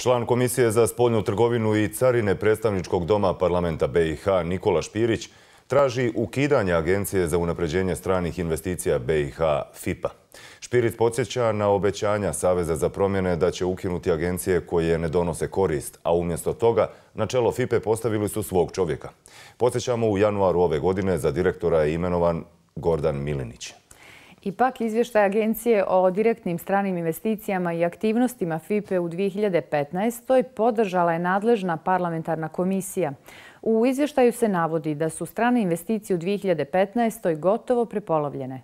Član Komisije za spoljnu trgovinu i carine predstavničkog doma parlamenta BiH Nikola Špirić traži ukidanje Agencije za unapređenje stranih investicija BiH FIPA. Špirić podsjeća na obećanja Saveza za promjene da će ukinuti agencije koje ne donose korist, a umjesto toga na čelo FIPE postavili su svog čovjeka. Podsjećamo, u januaru ove godine za direktora je imenovan Gordan Milinić. Ipak, izvještaj Agencije o direktnim stranim investicijama i aktivnostima FIPE u 2015. podržala je nadležna parlamentarna komisija. U izvještaju se navodi da su strane investicije u 2015. gotovo prepolovljene.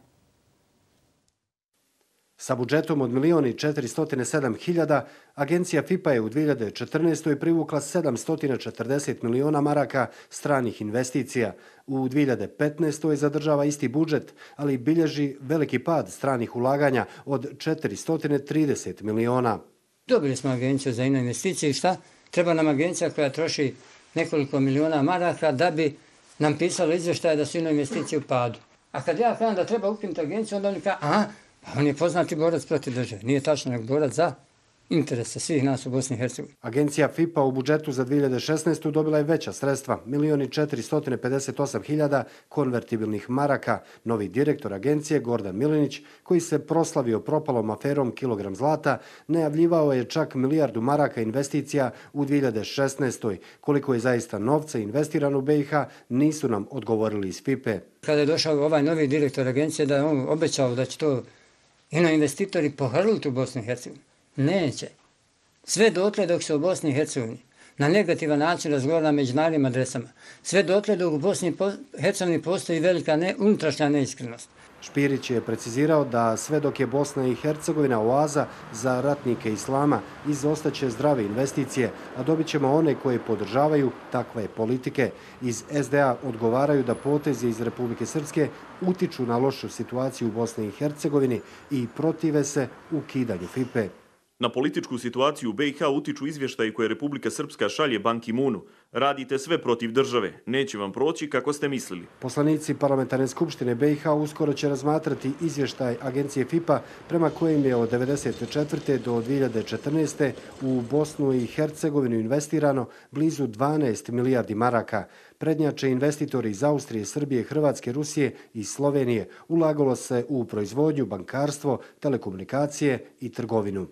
Sa budžetom od 1.407.000, agencija FIPA je u 2014. privukla 740 miliona maraka stranih investicija. U 2015. zadržava isti budžet, ali bilježi veliki pad stranih ulaganja od 430 miliona. Dobili smo agenciju za investicije i šta? Treba nam agencija koja troši nekoliko miliona maraka da bi nam pisalo izvještaje da su investicije u padu. A kad ja kažem da treba ukinuti agenciju, onda oni kažu, on je poznati borac protiv države. Nije tačno, nego borac za interese svih nas u Bosni i Hercegovini. Agencija FIPA u budžetu za 2016. dobila je veća sredstva, 1.458.000 konvertibilnih maraka. Novi direktor agencije, Gordan Milinić, koji se proslavio propalom aferom kilogram zlata, najavljivao je čak 1 milijardu maraka investicija u 2016. Koliko je zaista novca investirano u BiH, nisu nam odgovorili iz FIPE. Kada je došao ovaj novi direktor agencije, da je on obećao da će to investitori pohrliti u Bosni i Hercegovini. Neće. Sve dotle dok se u Bosni i Hercegovini na negativan način razgovara na međunarodnim adresama. Sve dotle dok u Bosni i Hercegovini postoji velika unutrašnja neiskrenost. Špirić je precizirao da sve dok je Bosna i Hercegovina oaza za ratnike islama, izostaće zdrave investicije, a dobit ćemo one koje podržavaju takve politike. Iz SDA odgovaraju da potezi iz Republike Srpske utiču na lošu situaciju u Bosni i Hercegovini i protive se ukidanju FIPE. Na političku situaciju u BiH utiču izvještaji koje Republika Srpska šalje Ban Ki-moonu. Radite sve protiv države. Neće vam proći kako ste mislili. Poslanici Parlamentarne skupštine BiH uskoro će razmatrati izvještaj agencije FIPA prema kojim je od 1994. do 2014. u Bosnu i Hercegovinu investirano blizu 12 milijardi maraka. Prednjače investitori iz Austrije, Srbije, Hrvatske, Rusije i Slovenije. Ulagalo se u proizvodnju, bankarstvo, telekomunikacije i trgovinu.